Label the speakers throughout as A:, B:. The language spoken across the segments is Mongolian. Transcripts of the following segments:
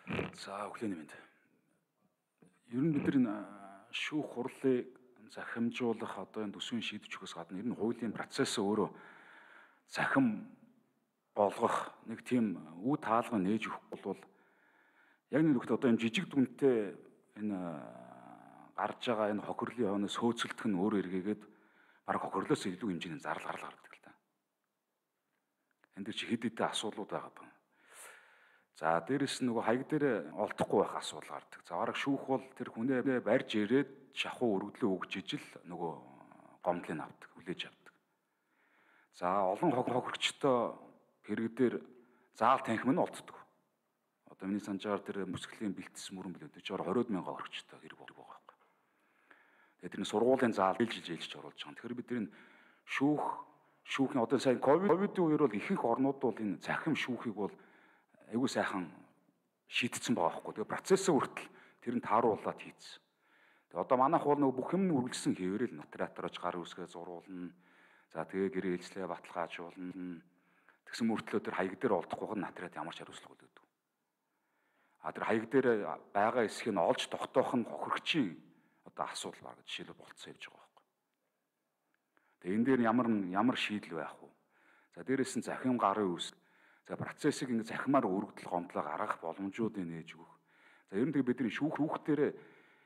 A: За өглөөний мэнд. Ер нь бид нар шүүх хурлыг захимжуулах одоо энэ төсвийн шийдвэр өгөхөөс гадна ер нь хуулийн процесс өөрөө захим болгох нэг тийм үе таалга нээж өгөхгүй бол яг нэг нөхд одоо энэ жижиг дүнтэй энэ гарч байгаа энэ хохирлын хойно сөөцөлдөх нь өөрөө эргээгээд бараг хохирлоос илүү хэмжээний зардал гардаг л та. Энд дэр чи хэд хэдэн асуудлууд байгаа юм. За дээрэс нь нөгөө хаяг дээр олдохгүй байх асуудал гардаг. За бараг шүүх бол тэр хүнээ барьж ирээд шахуу өргөдлөө өгж ижил нөгөө гомдлыг авдаг, хүлээж авдаг. За олон хохирогчтой хэрэг дээр заал танхим нь олддог. Одоо миний санджаар тэр мөсгөлийн бэлтгэс мөрөн билээ. Тэр 20,000 хохирогчтой хэрэг байгаа байхгүй. Тэгээд тэрний сургуулийн заал жилж оруулж байгаа. Тэгэхээр бид тэр шүүхийн одоо сайн ковидын үеэр бол ихэнх орнууд бол энэ захим шүүхийг бол айгуу сайхан шийдсэн байгаа байхгүй. Тэгээ процессыг хүртэл тэр нь тааруулаад хийцсэн. Тэгээ одоо манайх бол нөгөө бүх юм үргэлжсэн хэвээрэл нотариаторож гар үсгээ зурулна. За тэгээ гэрээ хэлцлээ баталгаажуулна. Тэгсэн мөртлөө тэр хаяг дээр олдохгүй нотариат ямар ч хариуцлага өгдөг. А тэр хаяг дээр байгаа эсхийг олж тогтоох нь хохирогчийн одоо асуудал баг жишээлбэл болцсон явж байгаа байхгүй. Тэгээ энэ дээр ямар шийдэл байх вэ? За дээрээс нь захим гарын үс. За процессыг ингэ захимаар өргөдөл гомдлоо гаргах боломжуудыг нээж өгөх. За ер нь тэгээ бидний шүүх дээр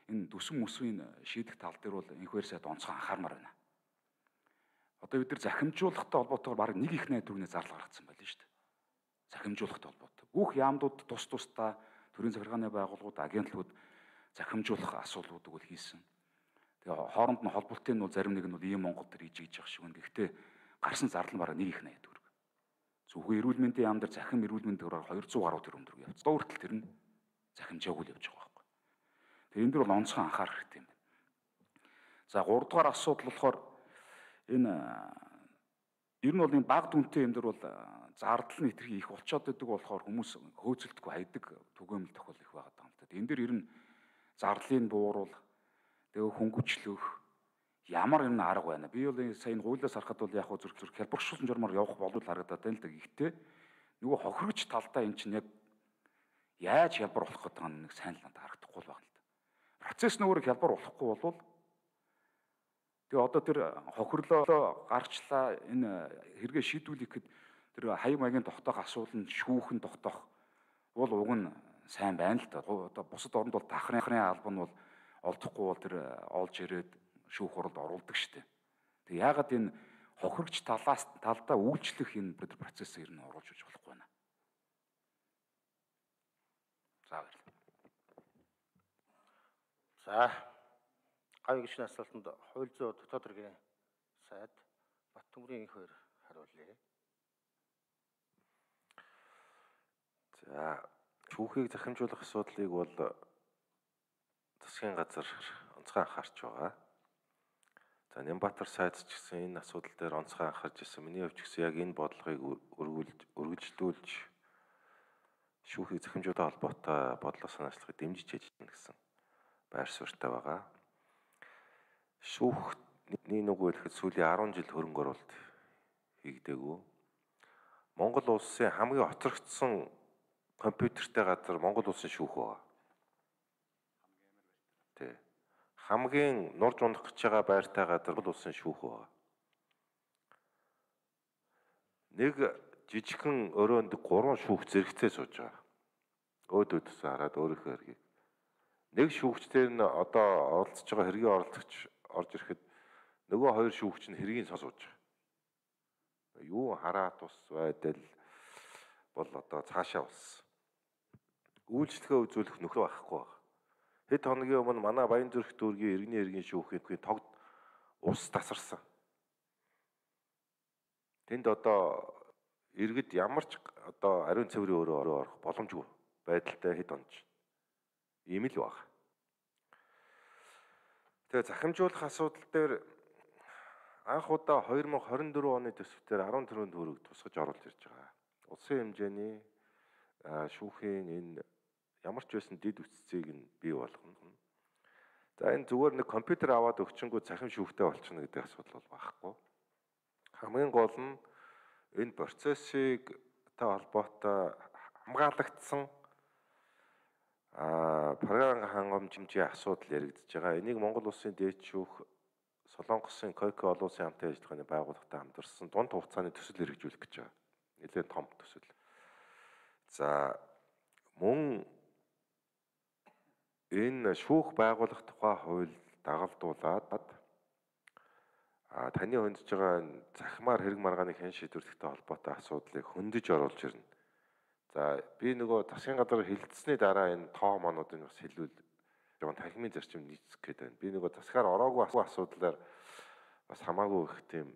A: энэ төсвөн мөсвийн шийдэх тал дээр бол инхвэр сайд онцгой анхаармаар байна. Одоо бид нар захимжуулахтай холбоотойгоор бараг нэг их найдварны зардал гаргацсан байл шүү дээ. Захимжуулахтай холбоотой. Бүх яамдууд тус тусдаа төрийн захиргааны байгууллагууд, агентлагууд захимжуулах асуудлуудыг бол хийсэн. Тэгээ хооронд нь холболтын нь бол зарим нэг нь бол ийм Монгол төр хийж явах шиг байна. Гэхдээ гарсан зардал нь бараг нэг их найдвар. Зөвхөн эрүүл мэндийн яам дээр захим эрүүл мэндийн төгрөг 200 гаруй төгрөг явц. Өөртөл тэр нь захимжаагүй л явж байгаа байхгүй. Тэгээ энэ дөр бол онцгой анхаарах хэрэгтэй юм байна. За 3 дугаар асуудал болохоор энэ ер нь бол энэ баг дүнтэй юм дээр бол зардал нь хэтэрхий их болчиход байдаг болохоор хүмүүс хөөцөлдөггүй хайдаг түгээмэл тохиол их байгаа юм л да. Энэ дээр ер нь зардлыг бууруул, тэгээ хөнгөвчлөх ямар юм арга байна. Би бол сая энэ хуулиас харахад бол яг хөө зүрх хялбаршуулсан журмаар явах болов харагдаад байна л да. Гэхдээ нөгөө хохирогч талдаа эн чинь яг яаж хялбар болох гэдэг нь нэг сайн л надад харагдахгүй л байна л да. Процесс нөгөө хялбар болохгүй болвол тэгээ одоо тэр хохирлоо гарчлаа энэ хэрэгэ шийдвүүлэх гэхэд тэр хаяг маягийн тогтоох асуудал нь шүүхэн тогтоох бол уг нь сайн байна л да. Одоо бусад орнд бол дахрын албан нь бол олдохгүй бол тэр олж ирээд шүүх хуралд оруулдаг штеп. Тэг яагаад энэ хохирогч талдаа үйлчлэх энэ процессыг ер нь оруулж өгч болохгүй байна. За баярлалаа.
B: За гавь гişний асуултанд хууль зүйн дотоод хэргийн сайд Баттөмрийн их хоёр хариулъя.
C: За шүүхийг захимжуулах асуудлыг бол засгийн газар онцгой анхаарч байгаа. За Нямбатар сайдч гэсэн энэ асуудал дээр онцгой анхаарч ирсэн. Миний хувьд ч гэсэн яг энэ бодлогыг үргэлжлүүлж шүүхийг захимжуулах холбоотой бодлого санаачлагыг дэмжиж хийж гэнэ гэсэн байр суурьтай байгаа. Шүүхний нүгэл гэхэд сүүлийн 10 жил хөрөнгө оруулалт хийгдээгүй. Монгол улсын хамгийн хоцрогдсон компьютертэй газар Монгол улсын шүүх байгаа. Тэ. Хамгийн нурж унах гэж байгаа байртай газар Монгол улсын шүүх байгаа. Нэг жижигхэн өрөөнд 3 шүүх зэрэгцээ сууж байгаа. Өөдөөдөөс хараад өөрийнхөө хэргийг. Нэг шүүгчдэр нь одоо оролцож байгаа хэргийн оролцогч орж ирэхэд нөгөө 2 шүүгч нь хэргийг сууж байгаа. Юу хараат ус байдал бол одоо цаашаа болсон. Үйлчлэгээ үзүүлэх нөхөр байхгүй байна. Хэд хоногийн өмнө манай Баянзүрх дүүргийн иргэний хэргийн шүүхийн тогд ус тасарсан. Тэнд одоо иргэд ямар ч одоо ариун цэврийн өрөө орох боломжгүй байдалтай хэд онж. Ийм л баг. Тэгээ захимжуулах асуудал дээр анх удаа 2024 оны төсвөөр 14 төгрөг тусгаж оруулж ирж байгаа. Улсын хэмжээний шүүхийн энэ ямар ч байсан дид үтцийг нь бий болгоно. За энэ зүгээр нэг компьютер аваад өгчөнгөө захим шүүхтэй болчихно гэдэг асуудал бол багхгүй. Хамгийн гол нь энэ процессыг та холбоотой хамгаалагдсан програм хангамжийн асуудал яригдж байгаа. Энийг Монгол Улсын дээд шүүх Солонгосын КОК олон улсын хамтын ажиллагааны байгууллагатай хамтарсан дунд хугацааны төсөл хэрэгжүүлэх гэж байгаа. Нэлээд том төсөл. За мөн энэ шүүх байгуулах тухай хууль дагалдуулаад таны хөндөж байгаа захимаар хэрэг маргааны хэн шийдвэрлэхтэй холбоотой асуудлыг хөндөж оруулж ирнэ. За би нөгөө засгийн газар хилцсэний дараа энэ тоо мануудыг бас хэлвэл жоон танхимын зарчим нийцэх гээд байна. Би нөгөө засгаар ороогүй асуудлаар бас хамаагүй их тийм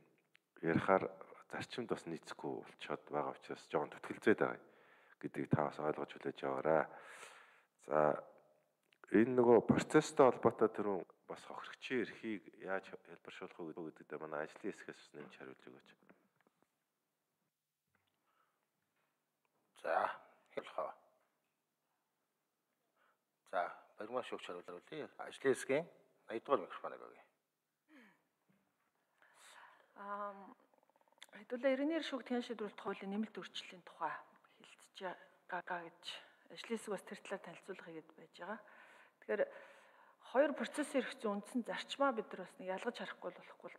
C: ярихаар зарчимд бас нийцэхгүй болчиход байгаа учраас жоон төтгөлзээд байгаа гэдгийг та бас ойлгож хүлээж аваарай. За энэ нөгөө процесстэй холбоотой түрүүн бас хохирогчийн эрхийг яаж хэлбэршүүлэх вэ гэдэгт манай ажлын хэсгээс нэмж хариулж өгөөч.
B: За хэлхөө. За баримт шүүгч хариулъя. Ажлын хэсгийн 80 дугаар микрофоныг өгье.
D: Хэдүүлээ иргэнээр шүүгдгийн шийдвэрлэх хуулийн нэмэлт өөрчлөлийн тухай хэлцэж байгаа гэж ажлын хэсэг бас тэр талаар танилцуулга хийгээд байж байгаа. Тэгэхээр хоёр процессын эрх зүйн үндсэн зарчмаа бид нар бас нэг ялгаж харахгүй болохгүй.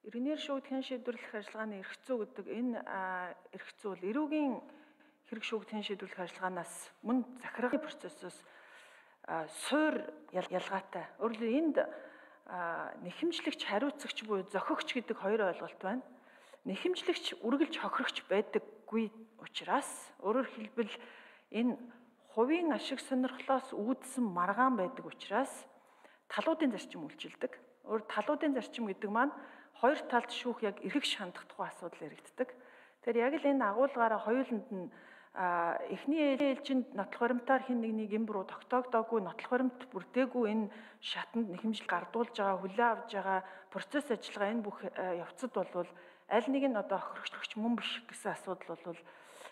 D: Иргэнээр шүүгдгийн шийдвэрлэх ажиллагааны эрх зүй гэдэг энэ эрх зүй бол эрүүгийн хэрэг шүүгдгийн шийдвэрлэх ажиллагаанаас мөн захиргааны процессоос суур ялгаатай. Өөрөөр энд нэхэмжлэгч, хариуцагч буюу зохиогч гэдэг хоёр ойлголт байна. Нэхэмжлэгч үргэлж хохирогч байдаггүй учраас өөрөөр хэлбэл энэ хувийн ашиг сонирхлоос үүдсэн маргаан байдаг учраас талуудын зарчим үйлчилдэг. Талуудын зарчим гэдэг маань хоёр талд шүүх яг эргэж хандах тухай асуудал яригддаг. Тэгэхээр яг л энэ агуулгаараа хоёуланд нь эхний ээлжинд нотлох баримтаар хин нэг юм руу тогтоогдоогүй, нотлох баримт бүрдээгүй энэ шатанд нэхэмжил гардуулж байгаа, хүлээн авж байгаа процесс ажиллагаа энэ бүх явцад бол аль нэг нь одоо хохирогч мөн биш гэсэн асуудал бол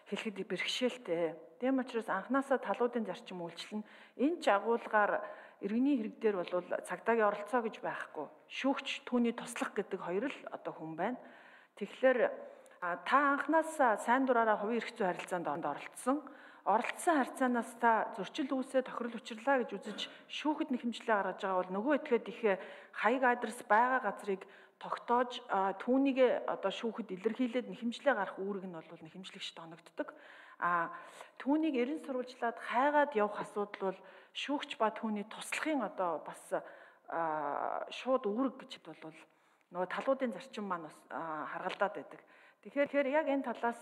D: хэлэхэд бэрхшээлтэй. Тийм учраас анханасаа талуудын зарчим үйлчлэн энэ ч агуулгаар иргэний хэрэг дээр бол цагдаагийн оролцоо гэж байхгүй. Шүүгч түүний туслах гэдэг хоёр л одоо хүн байна. Тэгэхээр та анханасаа сайн дураараа хувийн эрх зүй харилцаанд оролцсон харьцаанаас та зөрчил үүсээ тохирол учирлаа гэж үзэж шүүхэд нэхэмжлээ гаргаж байгаа бол нөгөө этгээд их хаяг адрес байгаа газрыг тогтоож түүнийг одоо шүүхэд илэрхийлээд нэхэмжлээ гарах үүрэг нь бол нэхэмжлэгчд оногддог. Түүнийг эрен сурвалжлаад хайгаад явах асуудал бол шүүгч ба түүний туслахын одоо бас шууд үүрэг гэж бол нөгөө талуудын зарчим маань бас харгалдаад байдаг. Тэгэхээр яг энэ талаас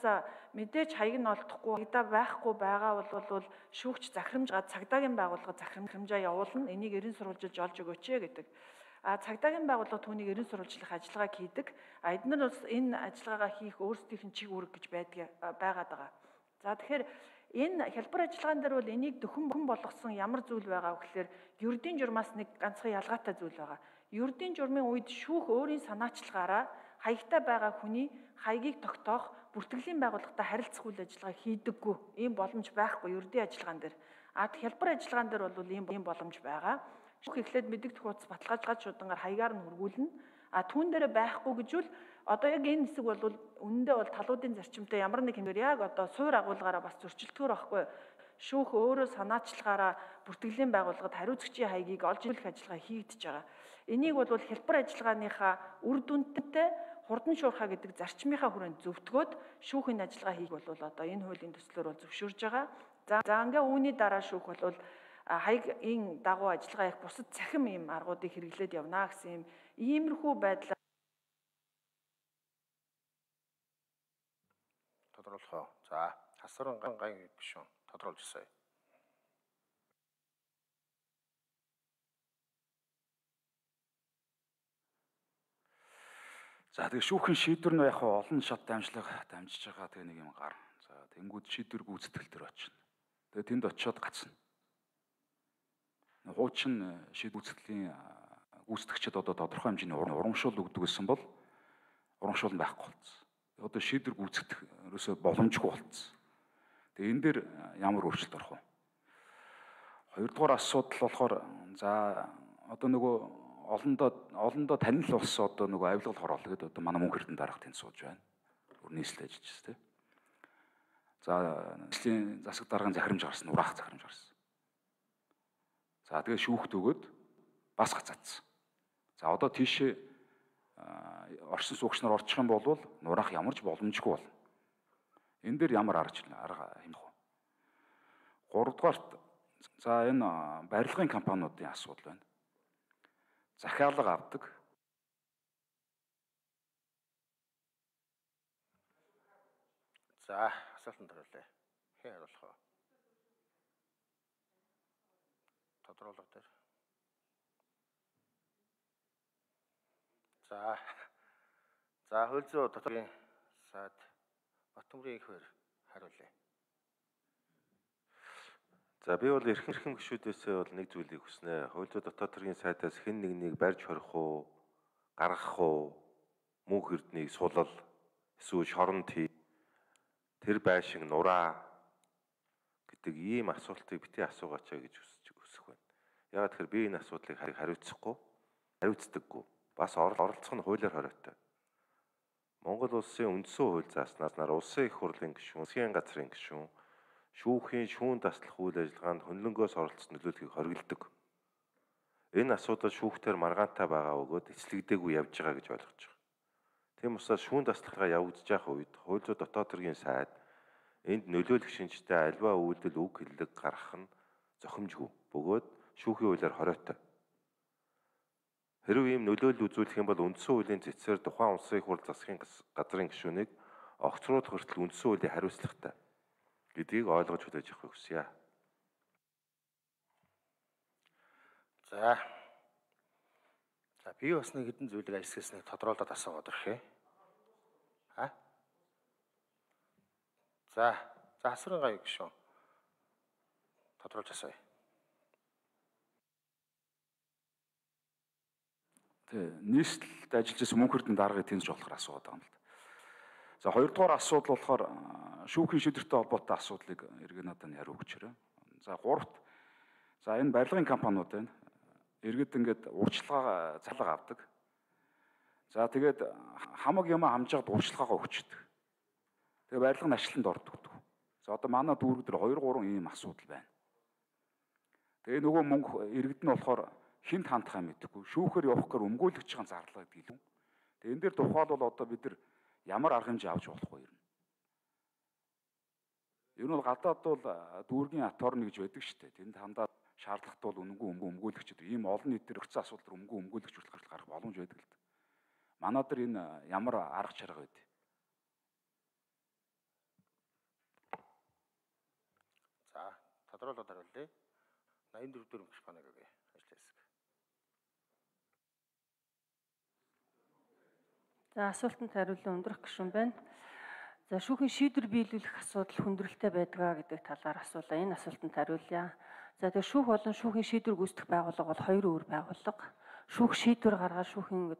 D: мэдээж хаяг нь олдохгүй, хягдаа байхгүй байгаа бол шүүгч захирамжгаа цагдаагийн байгууллага захирамжаа явуулна. Энийг эрен сурвалжилж олж өгөөч гэдэг. Цагдаагийн байгууллага түүнийг эрен сурвалжлах ажиллагааг хийдэг. Эдгээр бас энэ ажиллагаагаа хийх өөрсдийнх нь чиг үүрэг гэж байгаад байгаа. За тэгэхээр энэ хялбар ажиллагаан дээр бол энийг дөхөн болгосон ямар зүйл байгаа вэ гэхээр ердийн журмаас нэг ганцхан ялгаатай зүйл байгаа. Ердийн журмын үед шүүх өөрийн санаачлагаараа хаягтай байгаа хүний хаягийг тогтоох бүртгэлийн байгууллагатай харилцах үйл ажиллагаа хийдэггүй. Ийм боломж байхгүй ердийн ажиллагаан дээр. Хялбар ажиллагаан дээр бол ийм боломж байгаа. Шүүх эхлээд мэдэгдэх хуудас баталгаажгаад шудангаар хаягаар нь хургуулна. Түүн дээр байхгүй гэжүүл одоо яг энэ хэсэг бол үнэндээ бол талуудын зарчимтай ямар нэг хэмээр яг одоо суур агуулгаараа бас зөрчилдөхөр байхгүй. Шүүх өөрөө санаачлагаараа бүртгэлийн байгууллагад хариуцагчийн хаягийг олж ирэх ажиллагаа хийгдэж байгаа. Энийг бол хялбар ажиллагааныхаа үр дүнтэй хурдан шуурхаа гэдэг зарчмынхаа хүрээнд зөвтгөөд шүүхийн ажиллагаа хийх бол одоо энэ хуулийн төслөөр бол зөвшөөрж байгаа. За ингээ үүний дараа шүүх бол хаягийн дагуу ажиллагаа их бусад цахим ийм аргуудыг хэрэглээд явна гэсэн иймэрхүү байдлаар
B: тодруулах. За хасран гайн гишүүн тодруулж ирсэн.
A: За тэгээ шүүхийн шийдвэр нь яг олон шат дамжлага дамжиж байгаа тэгээ нэг юм гар. За тэнгууд шийдвэр гүйцэтгэл төр очино. Тэгээ тэнд очиод гацна. Хуучин шийдвэр гүйцэтгэлийн гүйцэтгэгчид одоо тодорхой хэмжээний урамшуул өгдөг гэсэн бол урамшуул байхгүй болсон. Одоо шийдвэр гүйцэтгэх ерөөсөө боломжгүй болсон. Тэгээ энэ дээр ямар өөрчлөлт орох вэ? Хоёрдугаар асуудал болохоор за одоо нөгөө олондоо танил болсон одоо нөгөө авилгал хороол гэдэг одоо манай мөнх эрдэнэ дарга тэнд сууж байна. Өрнөслөж ажиллаж тийм. За нийслэлийн засаг даргын захирамж гарсан, ураах захирамж гарсан. За тэгээ шүүхт өгөөд бас гацаадсан. За одоо тийшээ оршин суугч нар орчих юм бол нураах ямар ч боломжгүй болно. Энэ дээр ямар арга хэмжих вэ? Гуравдугаарт за энэ барилгын компаниудын асуудал байна. Захиалга авдаг.
B: За асуултанд хариулъя. Хэн хариулах вэ? Тодруулга дээр. За хууль зүйн дотоодын сайд Батбаян ихэр хариулъя.
C: За би бол эрхэм гишүүдээсээ бол нэг зүйлийг хүснэ. Хууль зүйн дотоод хэргийн сайдаас хэн нэгнийг барьж хорих уу, гаргах уу, мөнх эрднийг сулал, эсвэл шоронд хий, тэр байшин нураа гэдэг ийм асуултыг бити асуугаач гэж хүсэх байна. Яагаад тэгэхээр би энэ асуудлыг хариуцдаггүй. Бас оролцох нь хуулиар хориотой. Монгол улсын үндсэн хууль зааснаас нар улсын их хурлын гишүүн, засгийн газрын гишүүн, шүүхийн шүүн таслах үйл ажиллагаанд хөндлөнгөөс оролцсон нөлөөллийг хориглодог. Энэ асуудал шүүхтээр маргаантай байгаа бөгөөд эцлэгдээгүй явж байгаа гэж ойлгож байгаа. Тийм учраас шүүн таслахаа явагдаж байх үед хууль зүйн дотоод хэргийн сайд энд нөлөөлөх шинжтэй альва үйлдэл үг хэллэг гаргах нь зохимжгүй. Бөгөөд шүүхийн хуулиар хориотой. Хэрвээ ийм нөлөөлөл үзүүлэх юм бол үндсэн хуулийн зэтсээр тухайн улсын их хурл засгийн газрын гишүүнийг огцруулах хүртэл үндсэн хуулийн хариуцлагатай гэдгийг ойлгож хүлээж авахыг хүсье.
B: За би бас нэг хэдэн зүйлийг ажигласны тодруулаад асуугаад өрхөө. За асуурын гай гишүүн тодруулж асууя.
A: Нийслэлд ажиллаж байсан мөнх эрдэнэ даргыг тэнцэж болохоор асууад байгаа юм л да. За хоёрдугаар асуудал болохоор шүүхийн шийдвэртэй холбоотой асуудлыг эргээд надад нь хариу өгчөөрэй. За гуравт за энэ барилгын компаниуд байна. Иргэд ингээд урьдчилгаа цалга авдаг. За тэгээд хамаг юм хамжаад урьдчилгаагаа өгчдөг. Тэгээ барилга нь ачланд ордог. За одоо манай дүүрэг дээр 2 3 ийм асуудал байна. Тэгээ нөгөө мөнгө иргэд нь болохоор хинт хандхаа мэдэхгүй. Шүүхээр явах гэхээр өмгөөлөгч байгаа зарлага гэдэг юм. Тэгээ энэ дээр тухайлбал одоо бид нар ямар арга хэмжээ авч болох вэ юм? Ер нь бол гадаад бол дүүргийн аторны гэж байдаг шүү дээ. Тэнд хандаад шаардлагатай бол үнэнгүй өмгөөлөгчд ийм олон нийтээр өгсөн асуудал үнэнгүй өмгөөлөгч хүртэл гарах боломж байдаг л да. Манай дээр энэ ямар арга чарга байд?
B: За тодруулаад хариулъя. 84 дөрөв гэх банаг өгье. Ажил хэсэг.
E: За асуултанд хариулан өндрөх гишүүн байна. За шүүхийн шийдвэр биелүүлэх асуудал хүндрэлтэй байдгаа гэдэг талаар асуулаа. Энэ асуултанд хариулъя. За тэгээ шүүх болон шүүхийн шийдвэр гүйцэтгэх байгууллага бол хоёр өөр байгууллага. Шүүх шийдвэр гаргаад шүүхийн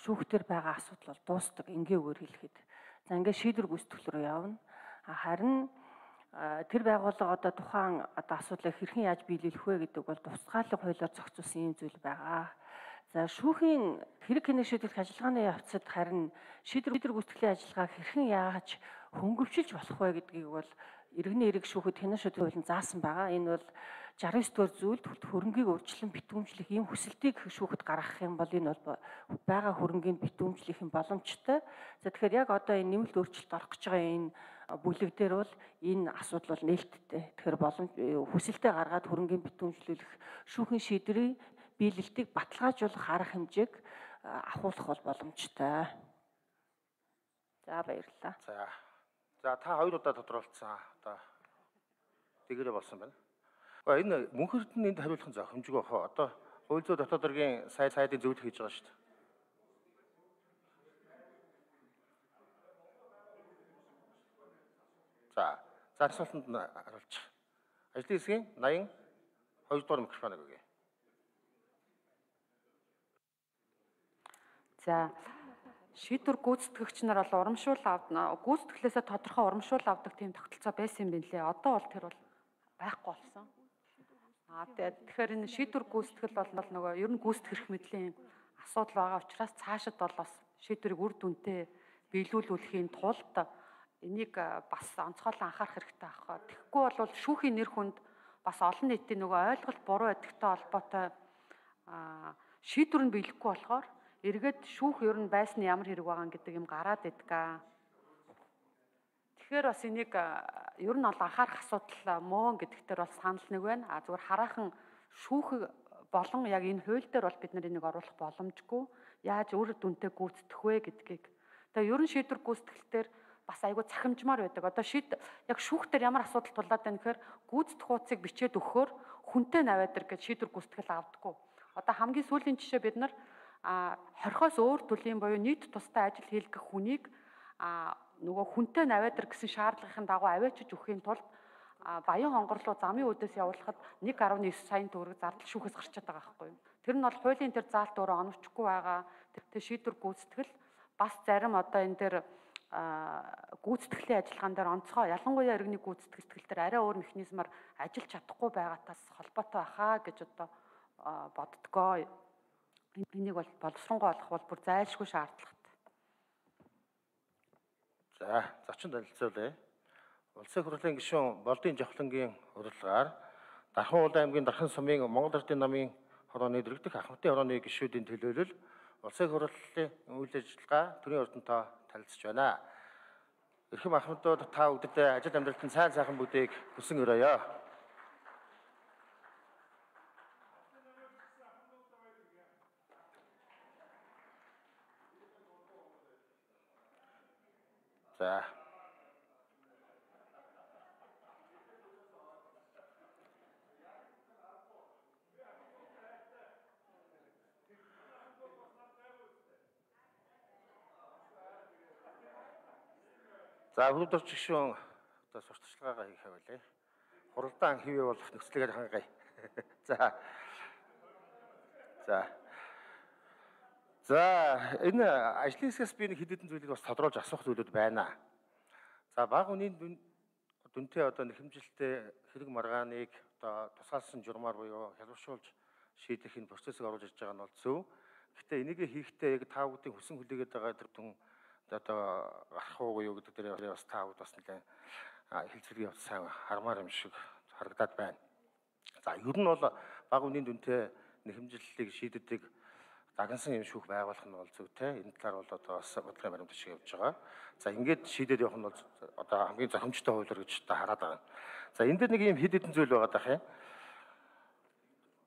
E: шүүхтэр байгаа асуудал бол дуустдаг. Энгийгээр хэлэхэд. За ингээд шийдвэр гүйцэтгэх рүү явна. Харин тэр байгууллага одоо тухайн асуудлыг хэрхэн яаж биелүүлэх вэ гэдэг бол тусгааллах хуулиар зохицуулсан юм зүйл байгаа. За шүүхийн хэрэг хянах шийдвэрлэх ажиллагааны явцад харин шийдвэр гүйцэтгэлийн ажиллагааг хэрхэн яаж хөнгөвчилж болох вэ гэдгийг бол иргэний эрэг шүүхэд хянах шийдвэр хуулийн заасан байгаа. Энэ бол 69 дугаар зүйлд хөрөнгийг урьдчилан битүүмжлэх ийм хүсэлтийг шүүхэд гаргах юм бол энэ бол байгаа хөрөнгийг битүүмжлэх юм боломжтой. За тэгэхээр яг одоо энэ нэмэлт өөрчлөлт орох гэж байгаа энэ бүлэг дээр бол энэ асуудал бол нээлттэй. Тэгэхээр боломж хүсэлтэд гаргаад хөрөнгийн битүүмжлүүлэх шүүхийн шийдвэрийн биелэлтийг баталгаажуулах арга хэмжээг ахуулах бол боломжтой. За баярлалаа.
B: За та хоёр удаа тодруулсан. Одоо тэгэрэ болсон байна. Энэ мөнх эрдэнэ энд хариулах нь зохимжгүй хаа. Одоо хууль зүйн дотоод хэргийн сайдын зөвлөх хийж байгаа шүү дээ. За асуултанд хариулчих. Ажлын хэсгийн 82 дугаар микрофоныг өгье.
F: За шийдвэр гүйцэтгэгч нар бол урамшуул авдаг, гүйцэтгэлээсээ тодорхой урамшуул авдаг тийм тогтолцоо байсан юм билээ. Одоо бол тэр бол байхгүй болсон. Тэгэхээр энэ шийдвэр гүйцэтгэл бол нөгөө ер нь гүйцэтгэх мэдлийн асуудал байгаа учраас цаашид бол бас шийдвэрийг үр дүнтэй биелүүлүүлэхийн тулд энийг бас онцгойлон анхаарах хэрэгтэй аах. Тэгэхгүй бол шүүхийн нэр хүнд бас олон нийтийн нөгөө ойлголт буруу байдагтай холбоотой шийдвэр нь биелэхгүй болохоор эргээд шүүх ер нь байсан ямар хэрэг байгаа гэдэг юм гараад идэггаа. Тэгэхээр бас энийг ер нь бол анхаарах асуудал мөн гэдэгтэр бол санал нэг байна. Зүгээр хараахан шүүх болон яг энэ хууль дээр бол бид нар энийг оруулах боломжгүй. Яаж үр дүнтэй гүйцэтгэх вэ гэдгийг. Тэгээ ер нь шийдвэр гүйцэтгэлээр бас айгүй цахимжмаар байдаг. Одоо яг шүүх дээр ямар асуудал тулаад байна гэхээр гүйцэтгэх хуудсыг бичээд өгөхөөр хүнтэй наваадар гэж шийдвэр гүйцэтгэл авдаггүй. Одоо хамгийн сүүлийн жишээ бид нар 20-оос өөр төрлийн буюу нийт тустай ажил хийлгэх хүнийг нөгөө хүнтэй наваадар гэсэн шаардлагын дагуу аваачиж өхийн тулд Баян хонгор руу замын үүдээс явуулахад 1.9 сая төгрөг зардал шүүхээс гарчаад байгаа байхгүй юу. Тэр нь бол хуулийн тэр заалт өөрөө оновчгүй байгаа. Тэр шийдвэр гүйцэтгэл бас зарим одоо энэ дээр гүйцэтгэлийн ажиллагаан дээр онцгой ялангуяа иргэний гүйцэтгэл дээр арай өөр механизмаар ажиллаж чадахгүй байгаагаас холбоотой баха гэж одоо боддгоо. Энийг бол боловсронгуй олох бол бүр зайлшгүй шаардлагатай.
B: За, зочин танилцуулъя. Улсын хурлын гишүүн Болдын Жавхлангийн урилгаар Дархан Улаан аймгийн Дархан сумын Монгол Ардын намын хорооны дэргэдэх Ахмадын хорооны гишүүдийн төлөөлөл улсын хурлын үйл ажиллагаа төрийн ордонтой танилцж байна. Эрхэм Ахмадууд та бүгдэд ажил амьдралтын сайн сайхан бүгдийг хүсэн өрөөё. За. За, хөрөдөрч гишүүн одоо сурталчилгаагаа хийх байлээ. Хуралдаан хэвээ болох нөхцөлөөр хангая. За. За, энэ ажлын хэсгээс би нэг хэд хэдэн зүйлийг бас тодруулж асуух зүйлүүд байна. За, бага үнийн дүнтэй одоо нэхэмжилттэй хэрэг маргааныг одоо тусгаалсан журмаар буюу хялбаршуулж шийдэх энэ процессыг оруулж ирж байгаа нь бол зөв. Гэхдээ энийг хийхдээ яг та бүдгийн хүсэн хүлээгээд байгаа тэр түн одоо гарах уу юу гэдэг дээр бас та бүд бас нэлээд хэлцвэрийн явц сайн хармаар юм шиг харагдаад байна. За, ер нь бол бага үнийн дүнтэй нэхэмжлэлийг шийддэг дагнсан юм шүүх байгуулах нь бол зөвтэй. Энэ талаар бол одоо бас бодлогын баримт шиг явж байгаа. За, ингээд шийдээд явах нь бол одоо хамгийн зохимжтой хуулиар гэж та хараад байгаа. За, энэ дээр нэг юм хэд хэдэн зүйл байгаа даа.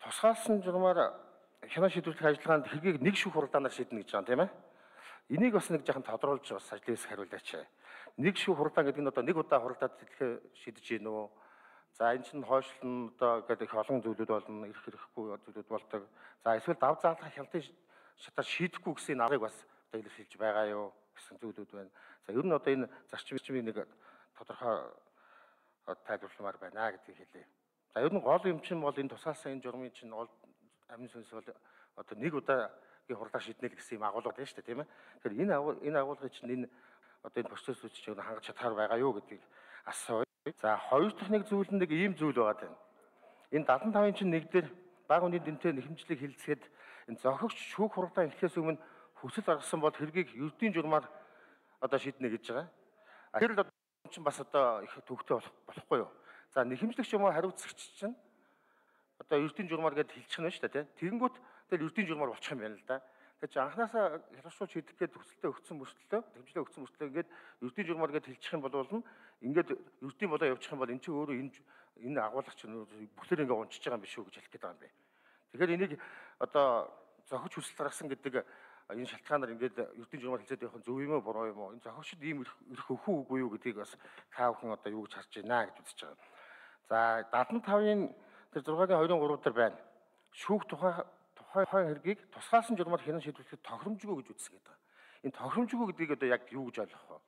B: Тусгаалсан журмаар хянаа шийдвэрлэх ажиллагаанд хэргийг нэг шүүх хуралдаанаар шийднэ гэж байгаа юм тийм ээ. Энийг бас нэг жоохон тодруулж бас ажлын хэсэг хариулаач. Нэг шүүх хуралдаан гэдэг нь одоо нэг удаа хуралдаад хэлэхээ шийдэж гин үү? За, энэ чинь хойшлон одоо гэдэг их олон зүйлүүд болно, ирэх хэрэггүй зүйлүүд болдог. За, эсвэл дав заалгах хяналтын шатаар шийдэхгүй гэсэн аргыг бас одоо илэрхийлж байгаа юу гэсэн зүйлүүд байна. За, ер нь одоо энэ зарчмын нэг тодорхой тайлбарламаар байна гэдгийг хэлье. За, ер нь гол юм чинь бол энэ тусгаалсан энэ журмын чинь амин сүнс бол одоо нэг удаагийн хурлаа шийднэ гэсэн юм агуулга байна шүү дээ, тийм ээ. Тэгэхээр энэ агуулгыг чинь энэ одоо энэ процессыг чинь хангаж чадхаар байгаа юу гэдгийг асууя. За, хоёр дахь нэг зүйл нь нэг ийм зүйл байгаа юм. Энэ 75-ын чинь нэг дээр бага үнийн дүнтэй нэхэмжлэг хилцгээд энэ зохигч шүүх хуралдаан эхлэхээс өмнө хүсэл гаргасан бол хэргийг ердийн журмаар одоо шийднэ гэж байгаа. Тэр л чинь бас одоо их төвхтэй болохгүй юу? За, нэхэмжлэгч юм уу хариуцагч чинь одоо ердийн журмаар гэдээ хэлчих нь шүү дээ, тийм. Тэгэнгүүт тэгэл ердийн журмаар болчих юм байна л да. Тэгэхээр анханасаа хялбаршуулж шийдэх гээд төсөлтөө өгсөн мөртлөө, хэмжлээ өгсөн мөртлөө ингээд ердийн журмаар гэдээ хэлчих юм бол ингээд ердийн болоо явчих юм бол эн чинь өөрөө энэ агуулгач чинь бүхлээр ингээд унчиж байгаа юм биш үү гэж хэлэх гээд байгаа юм бэ. Тэгэхээр энийг одоо зохиж хүсэл гаргасан гэдэг энэ шалтгаанаар ингээд ердийн журмаар хэлцээд явах нь зөв юм уу буруу юм уу? Энэ зохигчд ийм ирэх өхөө үгүй юу гэдгийг бас та бүхэн одоо юу гэж харж байна гэж үзэж байгаа. За, 75-ын тэр 6-гийн 23 дээр байна. Шүүх тухай хэргийг тусгаалсан журмаар хянан шийдвэрлэхэд тохиромжгүй гэж үзсэн гэдэг. Энэ тохиромжгүй гэдгийг одоо яг юу гэж ойлгох вэ?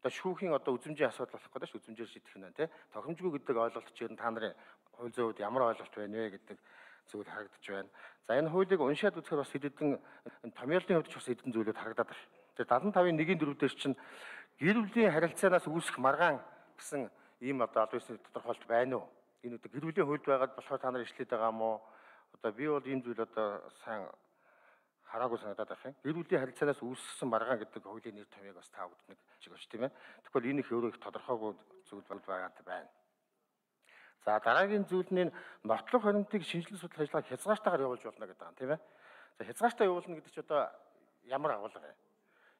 B: Одоо шүүхийн одоо үзмжийн асуудал болох гэдэг шүү, үзмжээр шийдэх нь тийм. Тохиромжгүй гэдэг ойлголт чинь та нарын хууль зүйд ямар ойлголт байна вэ гэдэг зүйл харагдаж байна. За, энэ хуулийг уншаад үзэхээр бас хэдэн томьёолын хувьд ч бас хэдэн зүйлүүд харагдаад байна. Тэр 75-ын 1-4 дээр чинь гэр бүлийн харилцаанаас үүсэх маргаан гэсэн ийм одоо аль биесний тодорхойлт байна уу? Энэ одоо гэр бүлийн хуульд байгаад болохоор та нар ишлээд байгаа юм уу? Одоо би бол ийм зүйл одоо сайн хараагүй санагдаад байна. Гэр бүлийн харилцаанаас үүссэн маргаан гэдэг хуулийн нэр томьёог бас та бүгд нэг чиг очт тийм ээ. Тэгвэл энэ их өөрөө их тодорхойгүй зүйл байна. За дараагийн зүйл нь нотлох баримтыг шинжилгээ судлах ажиллагааг хязгаартаагаар явуулж болно гэдэг юм тийм ээ. За хязгаартаа явуулна гэдэг чинь одоо ямар агуулга вэ?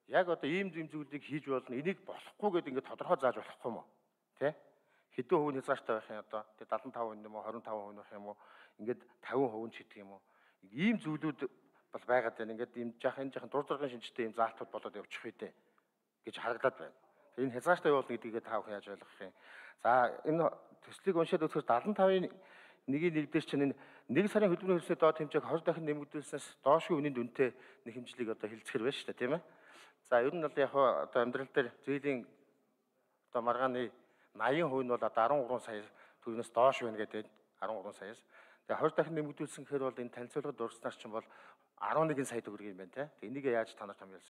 B: Яг одоо ийм зүйлийг хийж болно, энийг болохгүй гэдэг ингээд тодорхой зааж болохгүй юм уу? Тэ? Хэдэн хувийн хязгаартай байх юм одоо? Тэг 75% юм уу, 25% байх юм уу? Ингээд 50% ч гэдэг юм уу? Ийм зүйлүүд бол байгаад байна. Ингээд ийм энэ жаахан дур зоргийн шинжтэй ийм заалтууд болоод явчих үедээ гэж харагдаад байна. Энэ хязгаартай явуулна гэдгийг та бүхэн яаж ойлгох юм? За энэ төслийг уншаад үзэхээр 75-ын 1-1 дээр чинь энэ 1 сарын хөдөлмөрийн хөрсний доод хэмжээг 20 дахин нэмэгдүүлснээс доошгүй үнийн дүнтэй нэг хэмжлийг одоо хэлцгэр байна шүү дээ, тийм ээ. За ер нь бол яг одоо амьдрал дээр зээлийн одоо маргааны 80% нь бол одоо 13 сая төгрөгөөс доош байна гэдэг 13 саяас. Тэгээ 20 дахин нэмэгдүүлсэн гэхээр бол энэ танилцуулгад дурснаар чинь бол 11 сая төгрөг юм байна те. Энийг яаж та нарт хамжуулсан